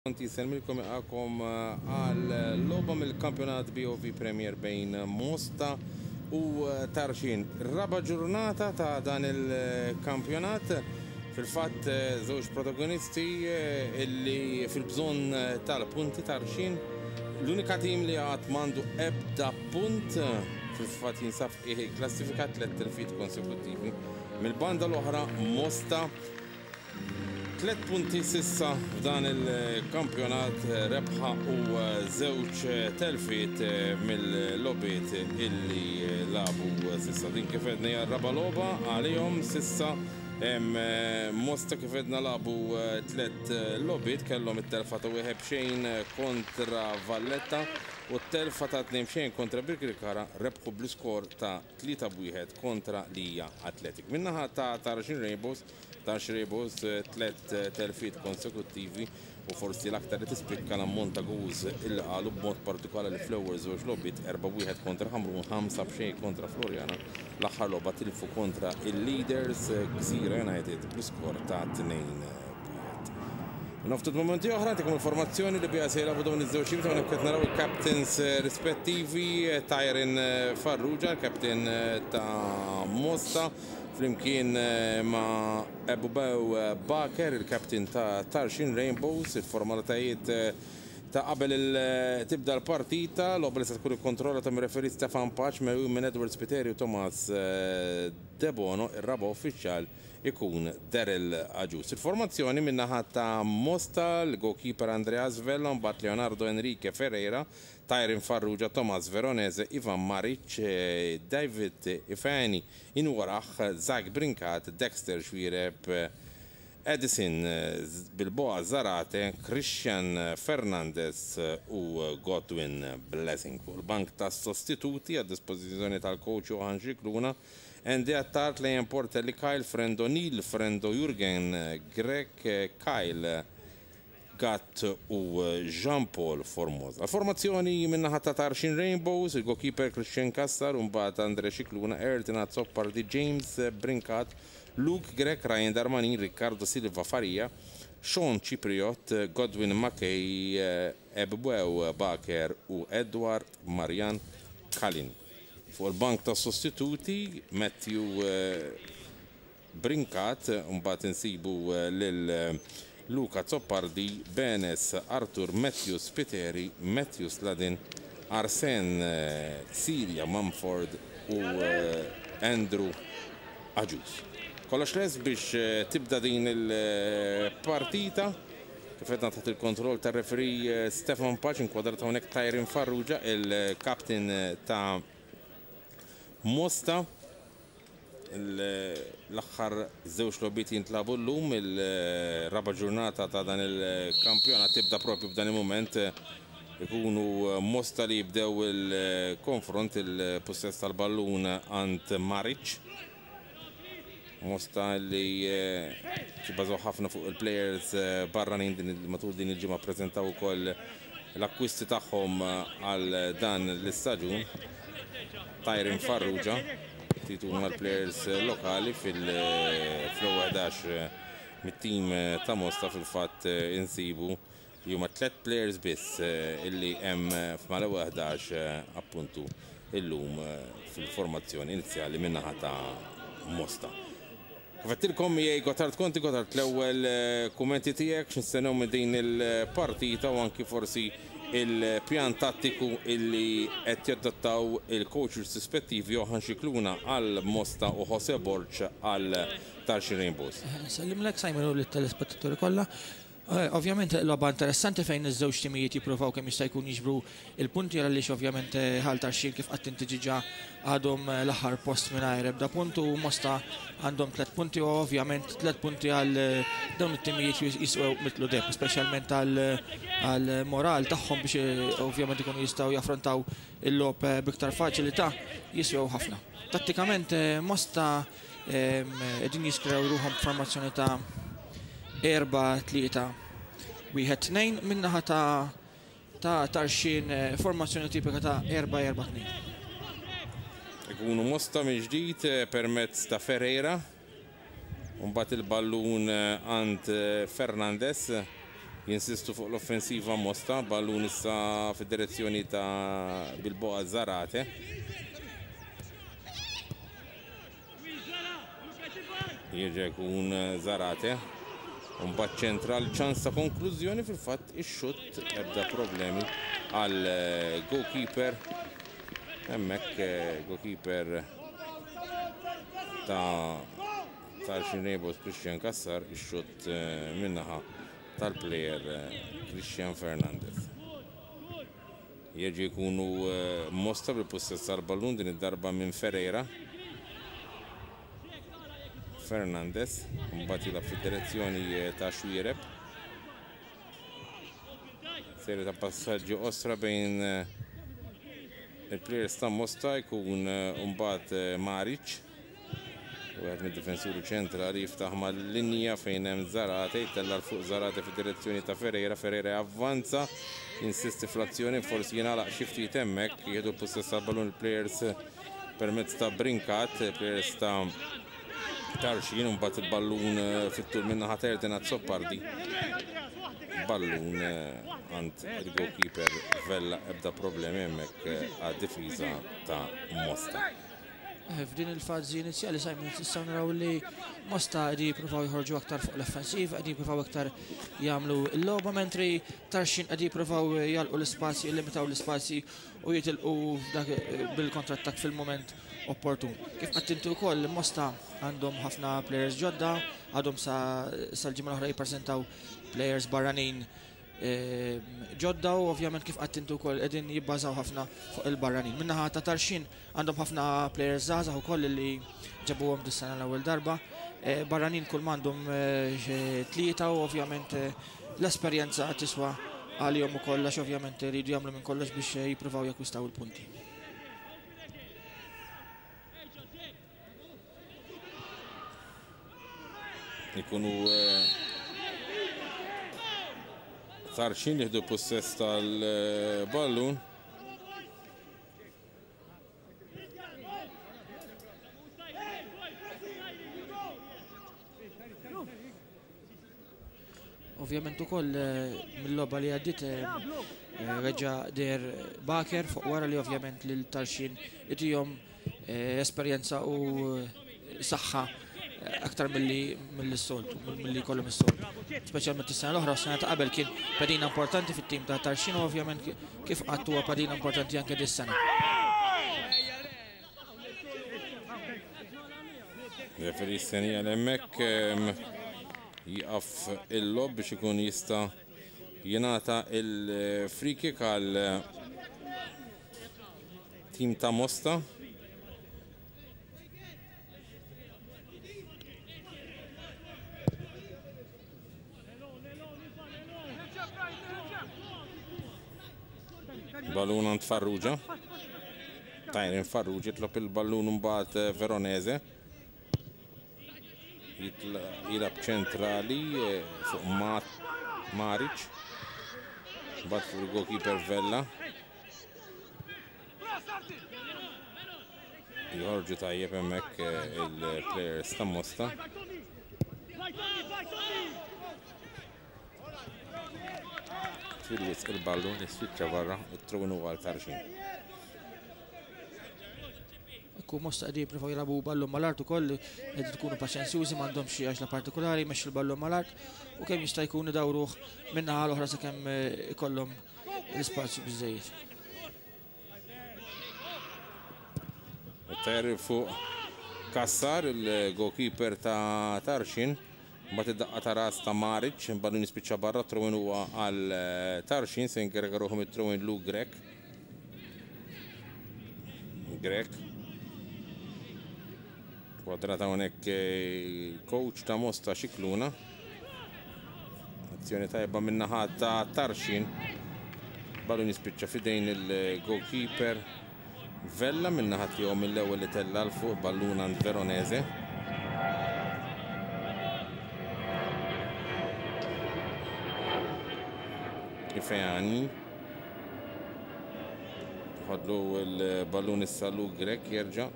Conti jsellmilkom jilqagħkom għal logħba mill-Kampjonat BOV Premier bejn Mosta u Tarxien. Raba' ġurnata ta' dan il-kampjonat. Fil-fatt żewġ protagonisti illi fil-bżonn tal-punti Tarxien. L-unika tim li għad m'għandu ebda punt fil-fatt jinsab f'qiegħ il-klassifika tliet telfiet konsekuttivi. Mill-banda l-oħra Mosta Tliet punti s'issa f'dan il-kampjonat, rebħa u żewġ telfiet mill-logħbiet illi lagħbu s'issa. Din kif għedna hija r-raba' logħba għalihom s'issa. Mosta kif għedna lagħbu tliet logħbiet, kellhom it-telfa ta' wieħed b'xejn kontra Valletta u t-telfa ta' 2-0 kontra Birkirkara, rebħu bl-iskor ta' 3-1 kontra Lija Athletic. Min-naħa ta' Tarxien Rainbows, Tax Rebus tlett telfiet konsekuttivi u forsi l-aktar li tispikka l-ammont ta' goals illi qalu b'mod partikolari fl-ewwel żewġ logħbiet, 4-1 kontra Ħamrun, 5-0 kontra Floriana. L-aħħar logħba tilfu kontra l-leaders Gżira United bl-iskor ta' 2-1. Minn ftit mumenti oħra ntikom il-formazzjoni li biha se jilagħbu dawn iż-żewġ teams hawnhekk qed naraw il-captains rispettivi Tyron Farrugia, il-captain ta' Mosta, Flimkien ma' Ebubew Baker, il-captain ta' Tarxien Rainbows, il-formalitajiet ta' qabel tibda l-partita, logħba li se tkun ikkontrollata mir-referee Stefan Pace, megħjun minn Edward Spiteri u Thomas Debono, ir-raba' uffiċjal ikun Daryl Agius. Il-formazzjoni min-naħa ta' Mosta, l-goalkeeper Andreas Vella, mbagħad Leonardo Enrique Ferreira, Tyron Farrugia, Thomas Veronese, Ivan Maric, David Ifeanyi, Inwarah, Zach Brincat, Dexter Xuereb, Edison Bilboa Zarate, Christian Fernandez u Godwin Blessing. Fuq il-bank tas-sostituti għad-dispożizzjoni tal-coach Johan Scicluna, Andy Attard, Leon Portelli, Kyle Frendo, Neil Frendo, Jurgen Grech, Kyle Gatt u Jean Paul Formosa. Formazzjoni min-naħa ta' Tarxien Rainbows, il-goalkeeper Christian Cassar u mbagħad Andre Scicluna, Ayrton Azzopardi, James Brincat, Luke Grech, Ryan Darmanin, Riccardo Silva Faria, Sean Cipriott, Godwin Mackay, Ebwew Baker u Edward Marian Kalin. Fuq il-bank tas-sostituti, Matthew Brincat, mbagħad insibu lil Luca Azzopardi, Benes, Arthur Matthews Spiteri, Matthew Sladin, Arsene Siria Mumford u Andrew Agius. Kollox lest biex tibda din il-partita. Kif għedna taħt il-kontroll tar-referee Stefan Pace, inkwadrat hawnhekk Tyron Farrugia, il-captain ta' Mosta. L-aħħar żewġ logħbiet jintlagħbu llum, il-raba' ġurnata ta' dan il-kampjonat tibda propju f'dan il-mument. Ikunu Mosta li jibdew il-konfront, il-pussess tal-ballun għand Maric. Mosta li jibbażaw ħafna fuq il-players barranin matul din il-ġimgħa ppreżentaw ukoll l-akkwisti tagħhom għal dan l-istaġun. Tyron Farrugia, ftit huma l-players lokali fil-ewwel 11 mit-tim ta' Mosta fil-fatt insibu li huma tliet players biss illi hemm f'mal-ewwel 11 appuntu illum fil-formazzjoni inizjali min-naħa ta' Mosta. Kif għedtilkom miegħi Gotthard Conti, Gotthard l-ewwel kummenti tiegħek x'nistennew minn din il-partita u anki forsi il-pjan tattiku illi qed jadottaw il-coaches rispettivi Johan Scicluna għal Mosta u Jose Borg għal Tarxien Rainbows. Nsellimlek Simon u lit-telespettaturi kollha. Ovvjament logħba interessanti fejn iż-żewġ timijiet jippruvaw kemm jista' jkun jiġbru il-punti għaliex ovvjament Ħal Tarxien kif qatt inti ġiġa għadhom l-aħħar post mingħajr ebda punt u Mosta għandhom tliet punti u ovvjament tliet punti għal dawn it-timijiet jiswew mitlu deheb, speċjalment għal moral tagħhom biex ovvjament ikunu jistgħu jaffrontaw il-logħob b'iktar faċilità jiswew ħafna. Tattikament Mosta Qegħdin jiskrew ruħhom b'formazzjoni ta' 4-3 1 2 min-naħa ta' ta' Tarxien formazzjoni tipika ta' 4-4-2. Ikunu Mosta mill-ġdid permezz ta' Ferreira. Mbagħad il-ballun għand Fernandez. Jinsistu fuq l-offensiva Mosta, ballun issa fid-direzzjoni ta' Bilboa Zarate. Jerġa' jkun Zarate. Mbagħad ċentral ċans ta' konklużjoni fil-fatt ix-xutt ebda problemi għal goalkeeper. Hemmhekk goalkeeper ta' Tarxien Rainbows Christian Cassar ix-xutt min-naħa tal-plejer Christian Fernandez. Jerġgħu jkunu Mosta bil-pussess tal-ballun din id-darba minn Ferreira. Fernandez, mbagħad jilgħab fid-direzzjoni ta' Xuereb. Serje ta' passaġġi qosra bejn il-players ta' Mosta jkun mbagħad Maric. Wieħed mid-difensuri ċentrali jiftaħ mal-linja fejn hemm Zarate, jtella' 'l fuq Zarate fid-direzzjoni ta' Ferreira, Ferreira javvanza, jinsisti fl-azzjoni, forsi jingħalaq xi ftit hemmhekk, jieħdu l-pussess tal-ballun il-players permezz ta' Brincat, players ta' Tarxien, u mbagħad il-ballun fit-tul min-naħa ta' Erden Azzopardi. Ballun għand il-goalkeeper Vella, ebda problemi hemmhekk għad-difiża ta' Mosta. F'din il-fażi inizjali Simon nistgħu naraw li Mosta qegħdin jippruvaw joħorġu aktar fuq l-offensiva, qegħdin jippruvaw aktar jagħmlu l-logħba mentri Tarxien qegħdin jippruvaw jagħlqu l-ispazji, jillimitaw l-ispazji u jitilqu bil-kontrattak fil-mument opportun. Kif qatt inti wkoll Mosta għandhom ħafna players ġodda, għadhom sal-ġimgħa l-oħra jippreżentaw players barranin ġodda u ovvjament kif qatt inti wkoll qegħdin jibbażaw ħafna fuq il-barranin. Min-naħa ta' Tarxien għandhom ħafna players żgħażagħ ukoll li ġabuhom dis-sena l-ewwel darba. Barranin kull m'għandhom tlieta u ovvjament l-esperjenza tiswa għalihom ukoll għax ovvjament iridu jagħmlu minn kollox biex jippruvaw jakkwistaw il-punti. Ikunu Tarxien jieħdu possess tal-ballun. Ovvjament ukoll mill-logħba li għaddiet reġa' deher Baker fuq wara li ovvjament lil Tarxien itihom esperjenza u saħħa aktar milli mill-soltu, milli jkollhom is-soltu. Speċjalment is-sena l-oħra, s-sena ta' qabel kien pedina importanti fit-tim ta' Tarxien u ovvjament kif qatt huwa pedina importanti anke dis-sena. Referee stenija l-hemmhekk jieqaf il-logħob biex ikun jista' jingħata il-free kick għal tim ta' Mosta. Ballun għand Farrugia. Tyron Farrugia jitlob il-ballun mbagħad eh, Veronese. Jilab ċentrali eh, fuq Maric. Mbagħad fuq il-goalkeeper Vella. Joħorġu tajjeb hemmhekk eh, il-players ta' Mosta. Fil-wisq il-ballun jispiċċa barra, it-trun huwa għal Tarxien. Ekku Mosta qegħdin jippruvaw jilagħbu ballun mal-art ukoll qegħdin ikunu paċenzjużi m'għandhomx xi għaġla partikolari jmexxu l-ballun mal-art u kemm jista' jkun idawruh min-naħa l-oħra sakemm eh, ikollhom l-ispazju biżejjed. Ter fuq Kassar, il-goalkeeper ta' Tarxien. Mbagħad id-daqqa ta' ras ta' Maric, ballun jispiċċa barra, throw-in huwa għal eh, Tarxien, se jinkarika ruħu mit-throw-in Lu Grek. Grek. Kwadrata hawnhekk eh, coach ta' Mosta Xikluna. Azzjoni tajba min-naħa ta' Tarxien. Ballun jispiċċa fidejn il-goalkeeper Vella min-naħa tiegħu mill-ewwel li tella' 'l fuq ballun għand Veronese. Ifeani. Ħadlu l-ballun issa Lu Grek jerġa'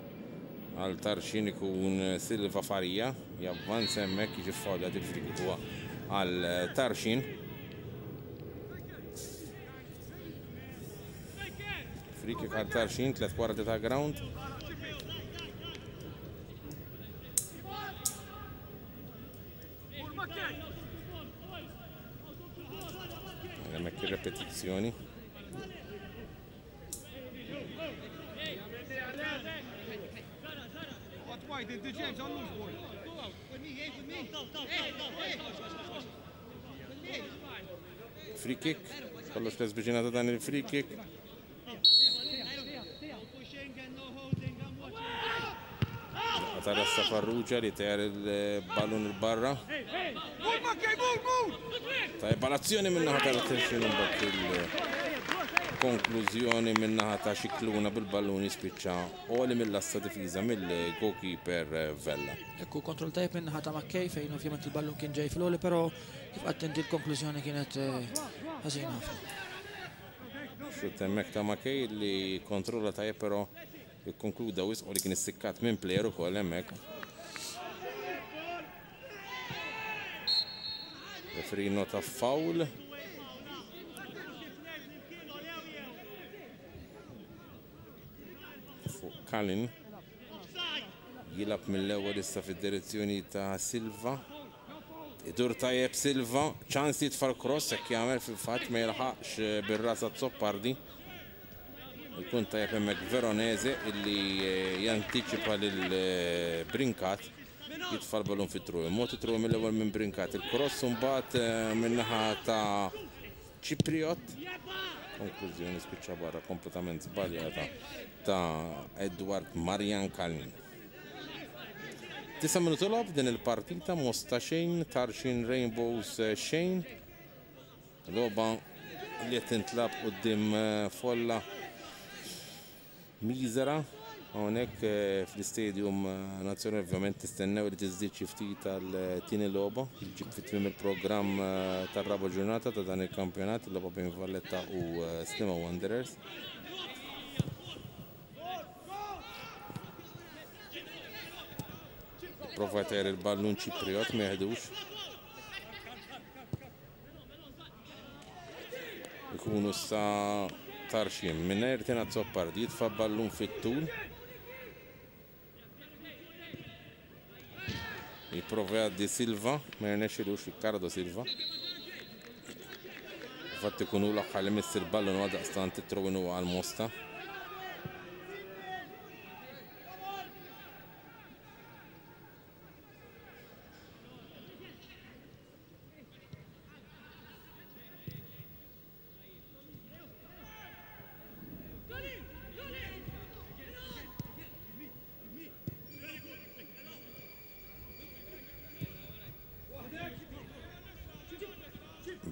għal Tarxien ikun Silva Faria javvanza hemmhekk jiġi ffawljat il-free kick huwa għal Tarxien. Free kick għal Tarxien, 3 kwarti ta' ground. Hemmhekk ir-repetizzjoni. Free kick, kollox les biex jingħata dan il-free kick. Tara Farrugia li tejer il-ballun il-barra. Tajba l-azzjoni minnaħa tal-Tarxien mbagħad il-konklużjoni minnaħa ta' Xikluna bil-ballun jispiċċa għoli mill-lasta difiża mill-goalkeeper Vella. Ekku kontroll tajjeb minnaħa ta' Mackay fejn ovvjament il-ballun kien ġej fil-għoli, però kif qatt inti l-konklużjoni kienet ħażina ħafna. Xutt hemmhekk ta' Mackay li kontrolla tajjeb però ikkonkluda wisq li kien issikkat minn player ukoll hemmhekk. Referee nota foul. Fuq Kalin. Jilab mill-ewwel issa fid-direzzjoni ta' Silva. Idur tajjeb Silva, ċans jitfa' l-cross hekk jagħmel fil-fatt ma jilħaqx bir-rasa Zoppardi. Ikun tajjeb hemmhekk Veronese illi jantiċipa lil Brincat jitfa' l-ballun fit-tru. Mod it-tru mill-ewwel minn Brincat. Il-cross mbagħad min-naħa ta' Cipriot. Konklużjoni spiċċa barra kompletament żbaljata ta' Edward Marian Kalin. 9 minuti logħob din il-partita Mosta xejn, Tarxien Rainbows xejn. Logħba li qed tintlab quddiem folla miżera hawnhekk fl-Istadium Nazzjonali ovvjament tistennew li tiżdied xi ftit għal tieni logħba li ġġib fi tmiem il-programm tar-raba' ġurnata ta' dan il-kampjonat, il-logħba bejn Valletta u Sliema Wanderers. Prova jtajjar il-ballun Ċipriot ma jeħdux. Ikunu sa Tarxien mingħajr Tina Zoppardi jitfa' ballun fit-tul. Jipprova jgħaddi Silva, ma jirnexxilux Riccardo Silva. Fatt ikunu l-aħħar li miss il-ballun u għaldaqstant it-throw-in huwa għal Mosta.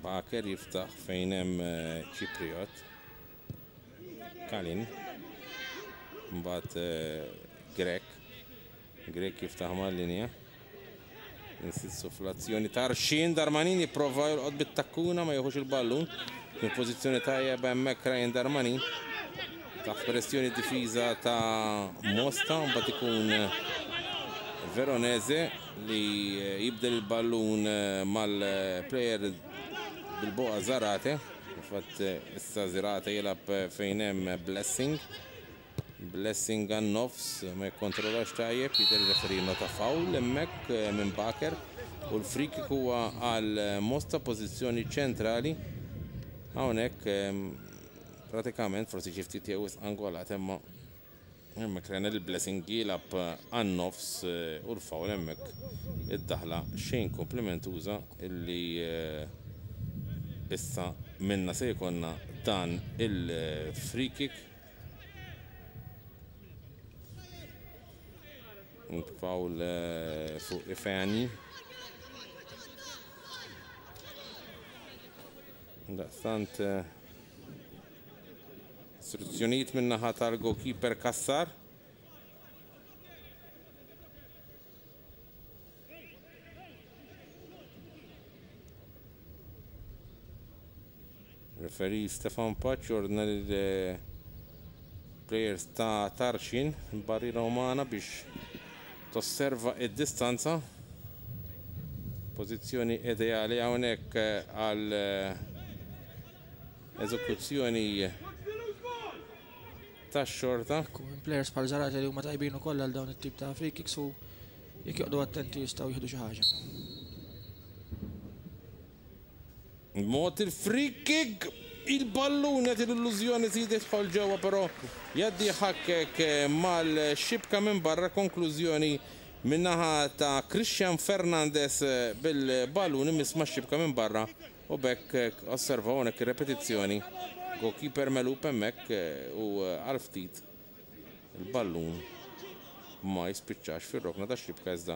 Baker jiftaħ fejn hemm Ċipriot. Kalin. Mbagħad Grek. Grek jiftaħ mal-linja. Insistu fl-azzjoni Tarxien, Darmanin jipprova jolqot bit-takkuna ma jieħux il-ballun. Kien pożizzjoni tajjeb hemmhekk Ryan Darmanin. Taħt pressjoni difiża ta' Mosta, mbagħad ikun Veronese li jibdel il-ballun mal-player bil-boqa Zarate. Infatti issa Zarate jilgħab fejn hemm Blessing. Blessing għan-nofs ma jikkontrollax tajjeb, jidher ir-referee nota foul hemmhekk minn Baker u l-free kick huwa għal Mosta pożizzjoni ċentrali. Hawnhekk pratikament forsi xi ftit jew wisq angolat imma hemmhekk rajna lil Blessing jilgħab għan-nofs u l-foul hemmhekk id-daħla xejn komplimentuża illi issa minna se jkollna dan il-free kick. Foul fuq Ifeanyi. Daqstant istruzzjonijiet min-naħa tal-goalkeeper Kassar. Referee Stefan Paċ ordna lil players ta' Tarxien barriera umana biex tosserva id-distanza. Pożizzjoni ideali hawnhekk għal eżekuzzjoni. tax-xorta. Ekku, players bħal Zarate li huma tajbin ukoll għal dawn it-tip ta' free kicks u jekk joqgħodu attenti jistgħu jieħdu xi ħaġa. Mod il-free kick, il-ballun jagħti l-illużjoni si jidħol ġewwa però jgħaddi ħakkek mal-xibka minn barra konklużjoni min-naħa ta' Christian Fernandez bil-ballun imiss max-xibka minn barra u b'hekk osservaw hawnhekk ir-repetizzjoni. Goalkeeper melub hemmhekk u għal ftit il-ballun ma jispiċċax fir-rokna tax-xibka iżda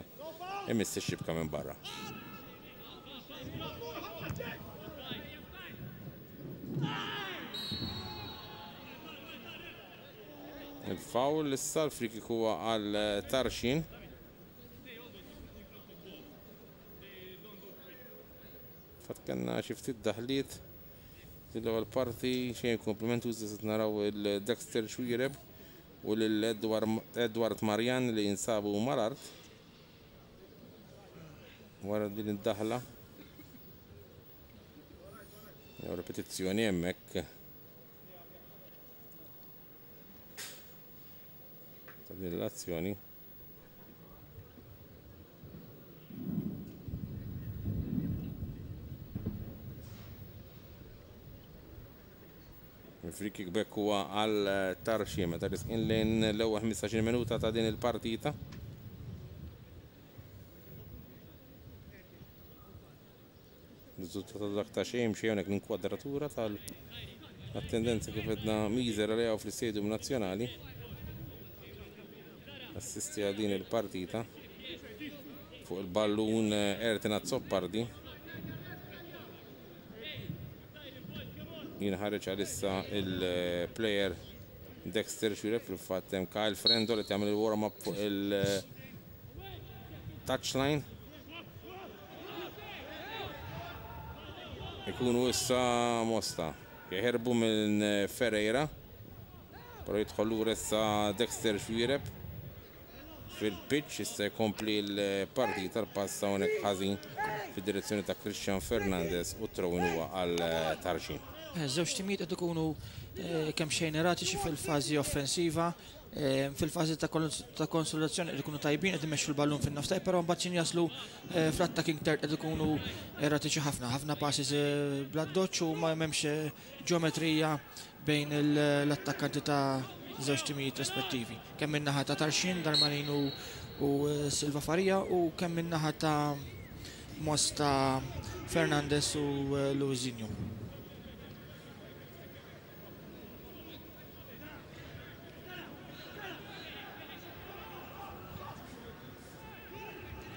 imiss ix-xibka minn barra. Il-foul issa l-free kick huwa għal Tarxien. Fatt kellna xi ftit daħliet l-ewwel parti xejn komplimentużi se naraw il-Dexter Xuereb u lil Edward Marjan li jinsabu mal-art wara din id-daħla. Jew repetizzjoni hemmhekk. Ta' din l-azzjoni. Il-free kick back huwa għal Tarxien meta risqin lejn l-ewwel 15-il minuta ta' din il-partita. Riżultat ta' dak ta' xejn xejn hawnhekk l-inkwadratura tal-attendenza kif edna miżera li hawn fl-Istadium Nazzjonali. Assisti għal din il-partita fuq il-ballun Ertin Azzopardi. Jinħareġ għalissa il-player Dexter Xuereb fil-fatt hemm Kyle Frendo li tagħmel il-warm up fuq il-touchline. Ikunu issa Mosta. Jeħirbu minn Ferreira. Però jidħol lura issa Dexter Xuereb fil-pitch issa jkompli l-partita l-pass hawnhekk ħażin fid-direzzjoni ta' Christian Fernandez u t-throw-in huwa għal Tarxien. Żewġ timijiet qed ikunu kemm xejn eratiċi fil-fażi offensiva, fil-fażi ta' konsolidazzjoni qed ikunu tajbin qed imexxu l-ballun fin-nofs tajb, però mbagħad x'in jaslu fl-attacking third qed ikunu eratiċi ħafna, ħafna passes bl-addoċċ u ma hemmx ġeometrija bejn l-attakkanti ta' żewġ timijiet rispettivi. Kemm min-naħa ta' Tarxien, Darmanin u Silva Faria u kemm min-naħa ta' Mosta Fernandez u Luizinho.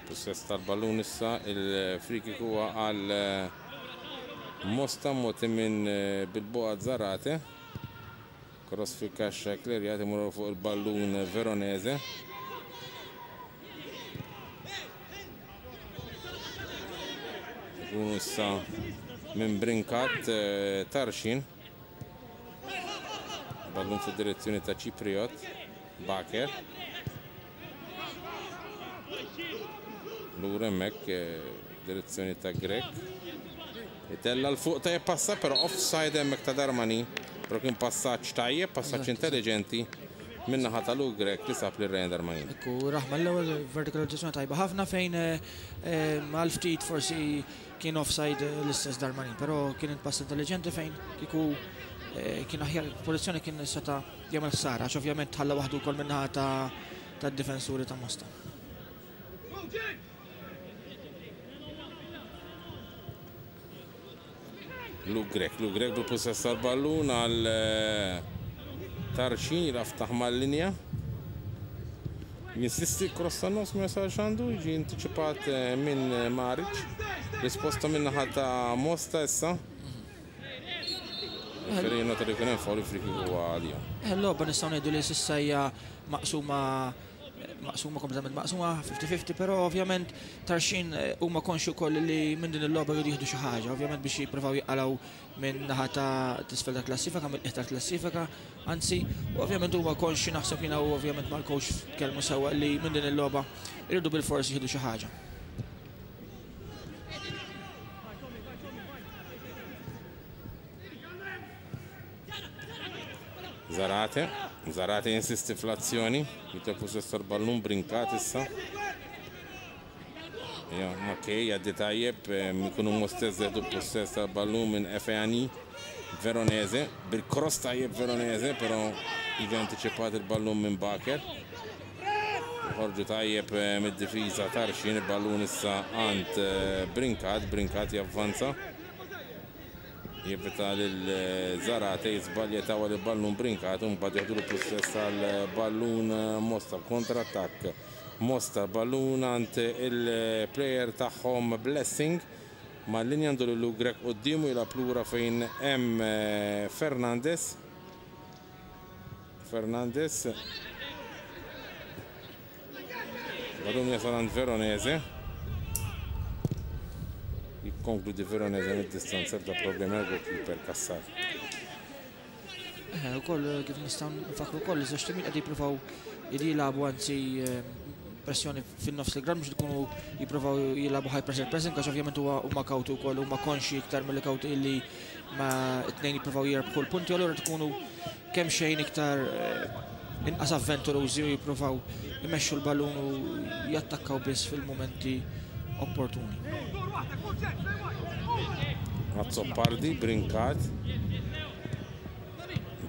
Possess tal-ballun issa il-free kick huwa għal Mosta moti minn Bilboa Zarate. Cross fil-kaxxa klerjat imur fuq il-ballun Veronese. Ikunu issa minn Brincat Tarxien. Ballun fid-direzzjoni ta' Cipriot. Baker. Lura hemmhekk direzzjoni ta' Grek. Itella l fuq tajjeb passa, però offside hemmhekk ta' Darmani. Però kien passaġġ tajjeb, passaġġ intelligenti min-naħa ta' Luke Grek li sab lil Ryan Darmani. Ekku, raħma l-ewwel vertikalizzazzjoni tajba ħafna fejn għal ftit forsi kien offside l-istess Darmani, però kien pass intelligenti fejn kieku kien aħjar pożizzjoni kien seta' jagħmel ħsara, għax ovvjament ħalla waħdu wkoll min-naħa tad-difensuri ta' Mosta. Luke Grek, Luke Grek bil-pussess tal-ballun għal Tarxien jilgħab taħ mal-linja. Jinsisti cross tan nofs ma jasalx għandu, jiġi antiċipat minn Maric. Risposta minn naħa ta' Mosta issa. Referee nota li kien hemm foul free kick huwa għalija. Il-logħba nistgħu ngħidu li s'issa hija maqsuma maqsuma kompletament maqsuma 50-50, però ovvjament Tarxien huma konxju wkoll li minn din il-logħba jridu jieħdu xi ħaġa, ovvjament biex jippruvaw jaqalgħu minn naħa ta' t'isfel tal-klassifika, mill-qiegħ tal-klassifika, anzi, u ovvjament huma konxju naħseb jiena u ovvjament mal-coach tkellmu sewwa li minn din il-logħba jridu bilfors jieħdu xi ħaġa. Zarate. Zarate jinsisti fl-azzjoni, jitlef pussess tal-ballun Brincat issa. Ja, Mackay jgħaddi tajjeb, ikunu Mostess jieħdu pussess tal-ballun minn Efeani Veronese, bil-cross tajjeb Veronese, però jiġi antiċipat il-ballun minn Baker. Joħorġu tajjeb mid-difiża Tarxien, il-ballun issa għand Brincat, Brincat javvanza. Jevita lil Zarate jiżbalja jtawwal il-ballun Brincat u mbagħad jeħdulu pussess tal-ballun Mosta b'kontrattakk. Mosta ballun għand il-plejer tagħhom Blessing mal-linja għandu lil Grech quddiemu jilgħab lura fejn hemm Fernandez. Fernandez. Ballun jasal għand Veronese. Jikkonkludi Veronese mid-distanza ebda problemi għal goalkeeper Cassar. Eh, ukoll eh, kif nistgħu nfakru wkoll iż-żewġ timijiet qed jippruvaw jilagħbu anzi eh, pressjoni fin-nofs il-ground biex ikunu jippruvaw jilagħbu high pressure pressing għax ovvjament huwa huma kawti wkoll huma konxi iktar milli kawti illi ma t-tnejn jippruvaw jirbħu l-punti allura tkunu kemm xejn iktar inqas avventurużi u jippruvaw imexxu l-ballun u jattakkaw biss fil-mumenti opportuni. Azzopardi, Brincat,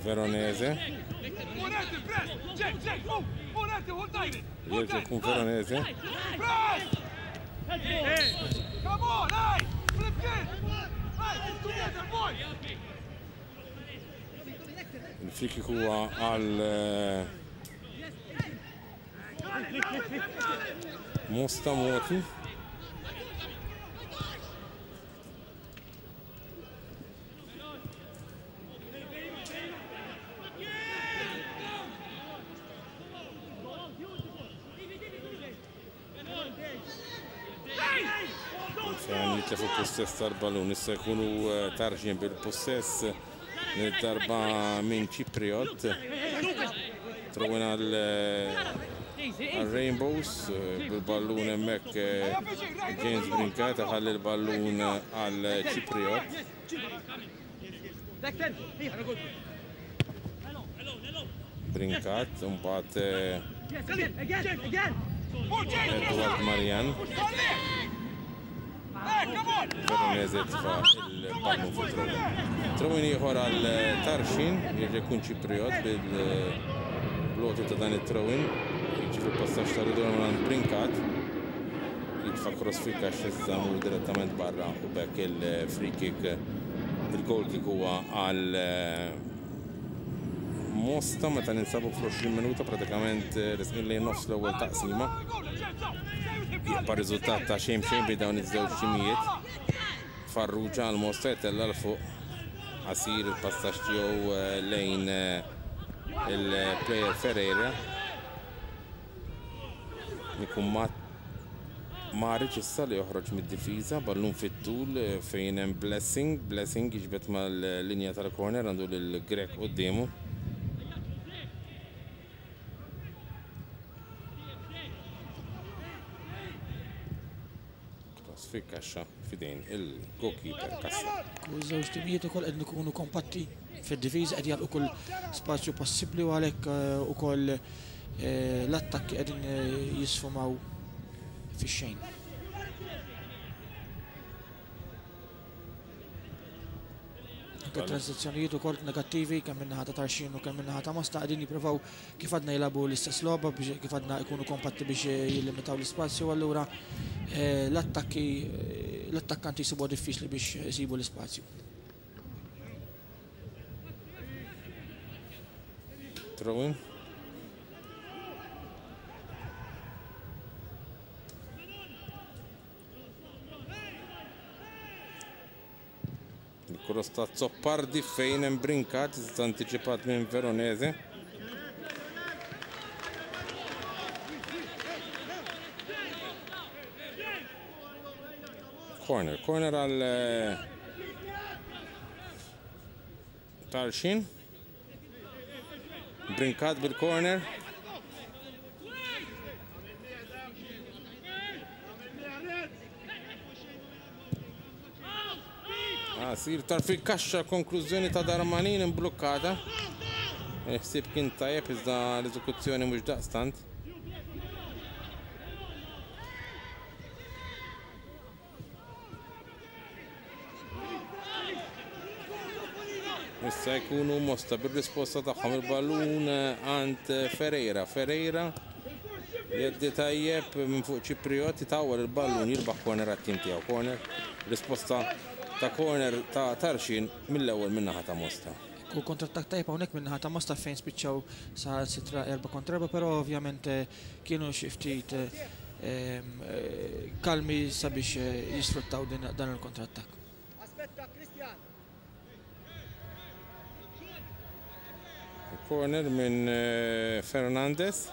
Veronese. Jerġa' jkun Veronese. Il-free kick huwa għal Mosta Moti. Fejn jitlefu possess tal-balun, issa jkunu tarxin bil-possess darba minn Ċipriot. Throwin għal Rainbows bil-ballun hemmhekk James Brincat ħalli l-ballun għal Ċipriot. Brincat, mbagħad Edward Marian. Veronese tfa' il-ballun fuq throwin. Throwin ieħor għal Tarxien, jerġa' jkun Ċipriot bil-bloti ta' dan it-throwin. Jiġi fil-passaġġ ta' ritorn għand Brincat. Jitfa' cross fil-kaxxa iżda mur direttament barra u b'hekk il-free kick il-goal kick huwa għal Mosta meta ninsabu fl-20 minuta pratikament resqin lejn nofs l-ewwel taqsima. Jibqa' riżultat ta' xejn b'xejn bejn dawn iż-żewġ timijiet. Farrugia għal Mosta jtella' 'l fuq qasir il-passaġġ tiegħu lejn il-player Ferreira. Ikun Maric issa li joħroġ mid-difiża, ballun fit-tul fejn hemm Blessing, Blessing jiġbed mal-linja tal-corner għandu lil Grech quddiemu. Cross fil-kaxxa f'idejn il-goalkeeper Cassar. U ż-żewġ timijiet ukoll qegħdin ikunu kompatti fid-difiża qed jagħlqu kull spazju possibbli u għalhekk ukoll l-attakki qegħdin jisfumaw fix-xejn. Anke transizzjonijiet ukoll negattivi kemm min-naħa ta' Tarxien u kemm min-naħa ta' Mosta qegħdin jippruvaw kif għadna jilagħbu l-istess logħba biex kif għadna jkunu kompatti biex jillimitaw l-ispazju allura l-attakki l-attakkanti jsibuha diffiċli biex isibu l-ispazju. Throw-in. Il-cross ta' Zoppardi fejn hemm Brincat iżda antiċipat minn Veronese. Corner, corner għal eh, Tarxin. Brincat bil-corner. Ah, sir tar fil-kaxxa konklużjoni ta' Darmanin imblukkata. Il-ħsieb kien tajjeb iżda l-eżekuzzjoni mhux daqstant. Issa jkunu Mosta bir-risposta tagħhom il-ballun għand Ferreira. Ferreira jeddi tajjeb minn fuq Ċipriot itawwal il-ballun jirbaħ corner għat-tim tiegħu. Corner, risposta ta' corner ta' Tarxien mill-ewwel min-naħa ta' Mosta. U kontrattak tajjeb hawnhekk min-naħa ta' Mosta fejn spiċċaw saħansitra 4 kontra 4, però ovvjament kienu xi ftit kalmi sabiex jisfruttaw dan il-kontrattak. Corner minn Fernandez.